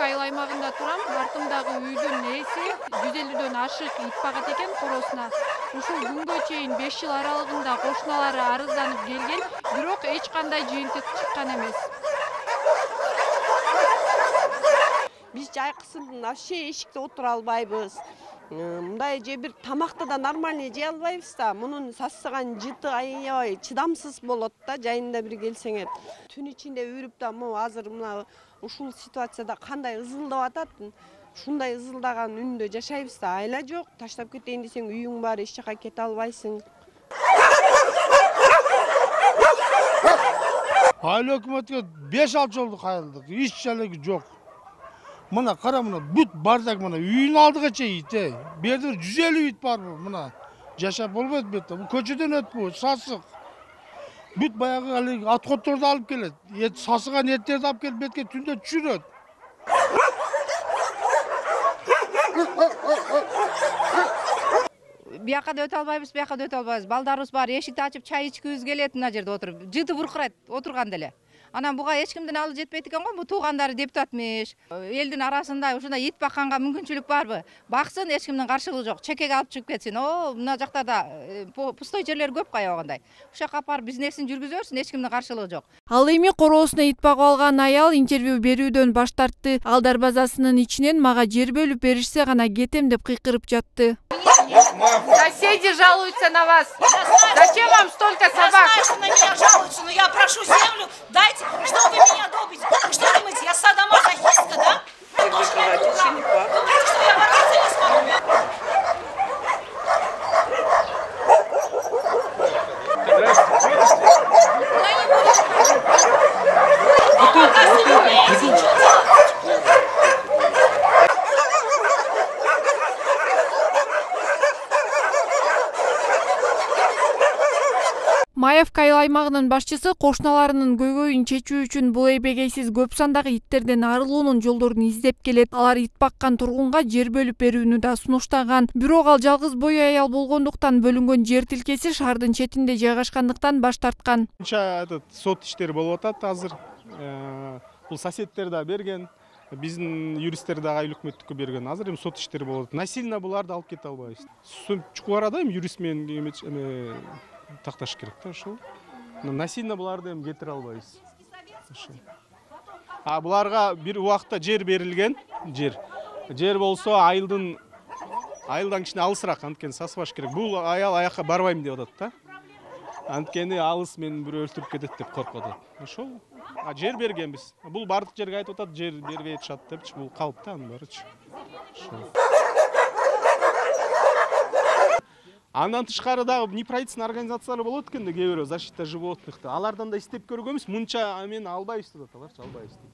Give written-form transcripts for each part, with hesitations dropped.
айыл аймагында турам. Артымдагы үйдүн ээси 150дөн ашык ит багат экен коросуна. Ушул күнгө чейин 5 жыл аралыгында кошуналары арызданып келген, бирок эч кандай жыйынтык чыккан эмес. Биз жайкысын вообще эшикте отура албайбыз. Мындай же бир тамакты да нормальный жей албайбыз да. Мунун сасыган жыты аябай чыдамсыз болот да, жайында бир келсеңер. Түн ичинде үрүп да, азыр мына ушул ситуацияда кандай ызылдап атат. Ушундай ызылдаган үндө жашайбыз да, айла жок. Таштап кетейин десең үйүң бар, эч жака кете албайсың. Айыл өкмөткө 5-6 жолду кайрылдык, эч жалеги жок. Мына кара, мына бүт бардак, мына үйүнүн алдыга чейин ит. Бу жерде 150 ит бар бу, мына. Жашап болбойт бу жерде. Бу көчөдөн өтпү, сасык. Бүт баягы алыг аткотторду алып келет. Сасыган эттерди алып келип бетке түндө түшүрөт. Бияка да өтө албайбыз, бияка да өтө албайбыз. Балдарыбыз бар, эшикти ачып чай ичкибиз келет, мына жерде отуруп. Жыты буркурайт отурганда эле. Анан буга эч кимдин алы жетпейт экен го, бу туугандары депутатмыш. Элдин арасында ушундай ит бакканга мүмкүнчүлүк барбы? Баксын, эч кимдин каршылыгы жок. Чекеге алып чыгып кетсин. Мына жактарда пустой жерлер көп каябагандай. Ушул жака барып бизнесин жүргүзө берсин, эч кимдин каршылыгы жок. Ал эми короосуна ит багып алган аял интервью берүүдөн баш тартты. Ал дарбазасынын ичинен мага жер бөлүп беришсе гана кетем деп кыйкырып жатты. Соседи жалуются на вас. Зачем вам столько собак? Я знаю, что на меня жалуются, но я прошу землю, дайте, что вы меня добите. Вы что думаете, я садомазохистка, да? Вы думаете, что я бороться не смогу? Маевка айыл аймагынын башчысы кошуналарынын көйгөйүн чечүү үчүн бул эбегейсиз көп сандагы иттерден арылуунун жолдорун издеп келет. Алар ит баккан тургунга жер бөлүп берүүнү да сунуштаган. Бирок ал жалгыз бой аял болгондуктан бөлүнгөн жер тилкеси шаардын четинде жайгашкандыктан баш тарткан. Сот иштери болуп атат азыр. Бул соседдер да берген, биздин юристтер дагы айыл өкмөттүккө берген. Азыр эми сот иштери болуп атат. Насильно буларды алып кете албайбыз. Чукул арада эми юрист менен такташ керек да ошол. Насильно буларды эми кетире албайбыз. Буларга бир убакта жер берилген, жер болсо айылдан кичине алысыраак, анткени сасыбаш керек. Бул аял аяка барбайм деп атат да. Анткени алыс мени бирөө өлтүрүп кетет деп коркуп атат. Ошол. Жер бергенбиз. Бул бардык жерге айтып атат, жер бербей атышат депчи, бул калп да анын баарычы. Андан тышкары дагы неправительственный организациялар болот экен да, кээ бирөө защита животных. Алардан да издеп көргөнбүз, мынча мен албайбыз деп аталарчы, албайбыз дейт.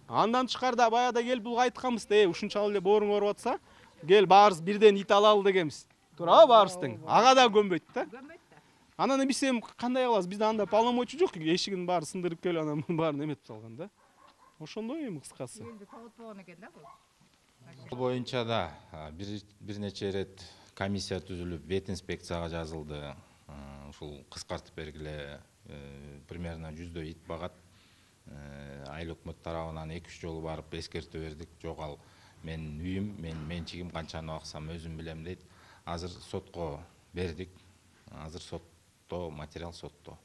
Андан тышкары да баягыда келип булга айтканбыз да, ушунчалык эле бооруң ооруп атса, кел баарыбыз бирден ит алалы дегенбиз. Туурабы баарыбыз тең? Ага да көнбөйт да. Анан биз эми кандай кылабыз? Бизде анда полномочий жок, эшигин баары сындырып келип анан баарын эметип салган да. Ошондой эми кыскасы. Элди тоготпогон экен да бул. Бул боюнча да бир нече ирет комиссия түзүлүп, вет инспекцияга жазылды. Ушул кыскартып бергиле, примерно 100 ит багат. Айыл өкмөт тарабынан 2-3 жолу барып эскертүү бердик. Жок, ал менин үйүм, менин менчигим, канчаны аксам өзүм билем дейт. Азыр сотко бердик. Азыр сотто, материал сотто.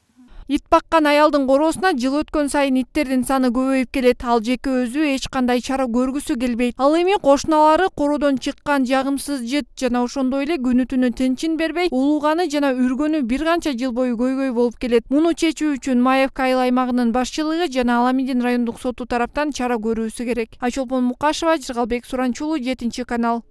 Ит баккан аялдын короосуна жыл өткөн сайын иттердин саны көбөйүп келет. Ал жеке өзү эч кандай чара көргүсү келбейт. Ал эми кошуналары короодон чыккан жагымсыз жыт жана ошондой эле күнү түнү тынчын бербей, улууганы жана үргөнү бир канча жыл бою көйгөй болуп келет. Муну чечүү үчүн Маевка айыл аймагынын башчылыгы жана Аламидин райондук соту тараптан чара көрүүсү керек. Айчолпон Мукашева, Жыргалбек Суранчулуу, 7 канал.